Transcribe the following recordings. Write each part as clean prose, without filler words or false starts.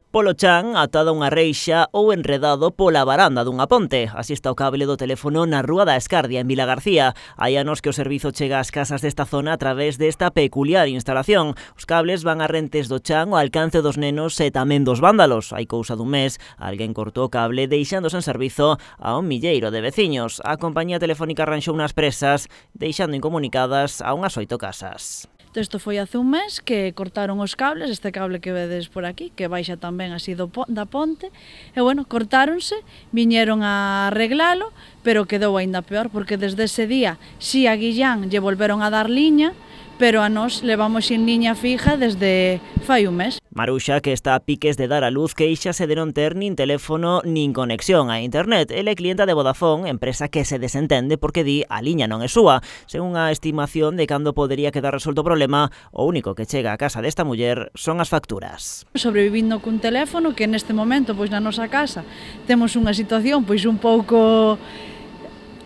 Polo chan, atado a unha reixa ou enredado pola varanda dunha ponte. Así está o cable do teléfono na Rúa da Escardia, en Vilagarcía. Hai anos que o servizo chega ás casas desta zona a través desta peculiar instalación. Os cables van a rentes do chan ao alcance dos nenos e tamén dos vándalos. Hai cousa dun mes, alguén cortou o cable deixándose en servizo a un milleiro de veciños. A compañía telefónica arranxou unhas presas, deixando incomunicadas a unhas 8 casas. Isto foi hace un mes que cortaron os cables, este cable que vedes por aquí, que baixa tamén así da ponte, e bueno, cortáronse, viñeron a arreglalo, pero quedou aínda peor, porque desde ese día, si a Guillán lle volveron a dar liña, pero a nós levamos sin liña fija desde fai un mes. Maruxa, que está a piques de dar a luz, queixase de non ter nin teléfono nin conexión a internet. Ela é clienta de Vodafone, empresa que se desentende porque di a liña non é súa. Según a estimación de cando podería quedar resolto o problema, o único que chega á casa desta muller son as facturas. Sobrevivindo cun teléfono que neste momento, pois na nosa casa, temos unha situación pois un pouco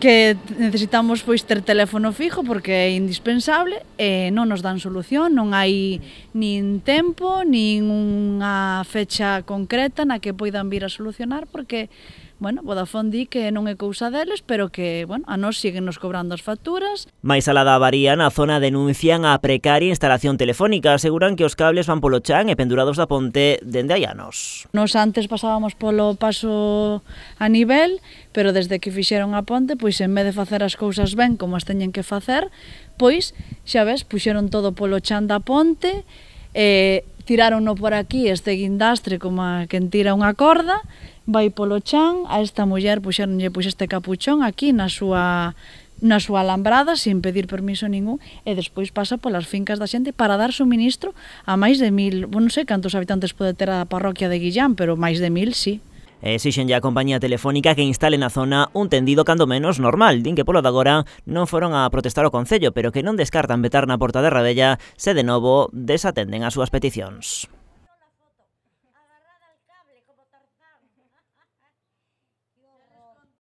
que necesitamos pois ter teléfono fijo porque é indispensable e non nos dan solución, non hai nin tempo, nin unha fecha concreta na que poidan vir a solucionar porque, bueno, Vodafone di que non é cousa deles, pero que, bueno, a nós siguen nos cobrando as facturas. Mais alá da avaría, na zona denuncian a precaria instalación telefónica, aseguran que os cables van polo chan e pendurados da ponte dende hai anos. Nos antes pasábamos polo paso a nivel, pero desde que fixeron a ponte, pois en vez de facer as cousas ben como as teñen que facer, pois, xa ves, puxeron todo polo chan da ponte, tirárono por aquí este guindastre como a quen tira unha corda, vai polo chan, a esta muller puxeronlle este capuchón aquí na súa alambrada sin pedir permiso ningún e despois pasa polas fincas da xente para dar suministro a máis de 1000, non sei cantos habitantes pode ter a parroquia de Guillán, pero máis de 1000, sí. Exixenlle á compañía telefónica que instale na zona un tendido cando menos normal. Din que polo de agora non foron a protestar o Concello, pero que non descartan vetar na Porta de Rabella se de novo desatenden as súas peticións.